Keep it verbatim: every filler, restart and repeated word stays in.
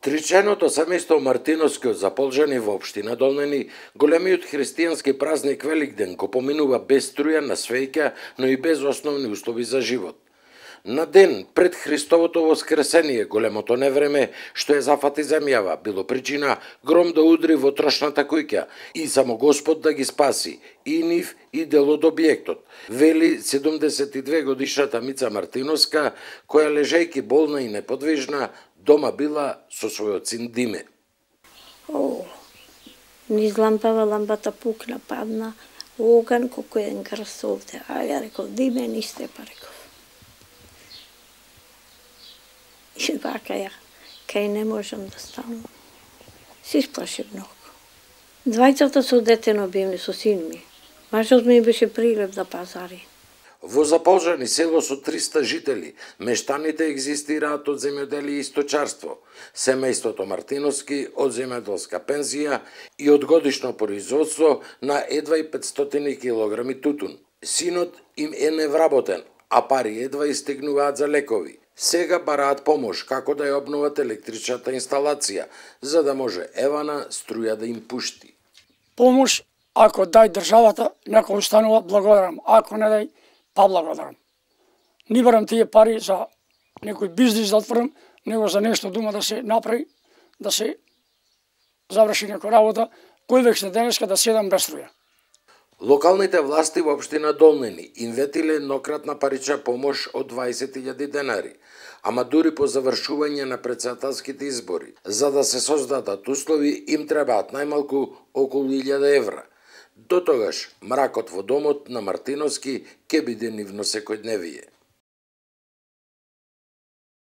Тричајното семејство Мартиновски од Заполжани во општина Долнени, големиот христијански празник Великден го поминува без струја на свеќа, но и без основни услови за живот. На ден пред Христовото воскресение, големото невреме што е зафати земјава, било причина гром да удри во трошната куќа и само Господ да ги спаси, и нив и дел од објектот, вели седумдесет и две годишната Мица Мартиновска, која лежејќи болна и неподвижна, дома била со својот син Диме. О, низ лампава, лампата пукна, падна, оган колку еден крст овде. А ја реков, Диме, нисте, па реков. И вака ја, кај не можам да станам. Се исплаши многу. Двајцата со детено бивме со син ми. Мажот ми беше прилеп да пазари. Во Заполжани село со триста жители, мештаните екзистираат од земјоделие и сточарство, семејството Мартиновски од земјоделска пензија и од годишно производство на едва и петстотини килограми тутун. Синот им е невработен, а пари едва истегнуваат за лекови. Сега бараат помош како да ја обноват електричната инсталација, за да може евана струја да им пушти. Помош, ако дај државата, нека останува, благодарам. Ако не дај, па благодарам. Не барам тие пари за некој бизнис да отворам, него за нешто дума да се направи, да се заврши некоја работа, кој век се денеска да седам без струја. Локалните власти во општина Долнени им ветиле еднократна парична помош од двајсет илјади денари, ама дури по завршување на претседателските избори, за да се создадат услови, им требаат најмалку околу илјада евра. До тогаш, мракот во домот на Мартиновски ќе биде нивно секојдневие.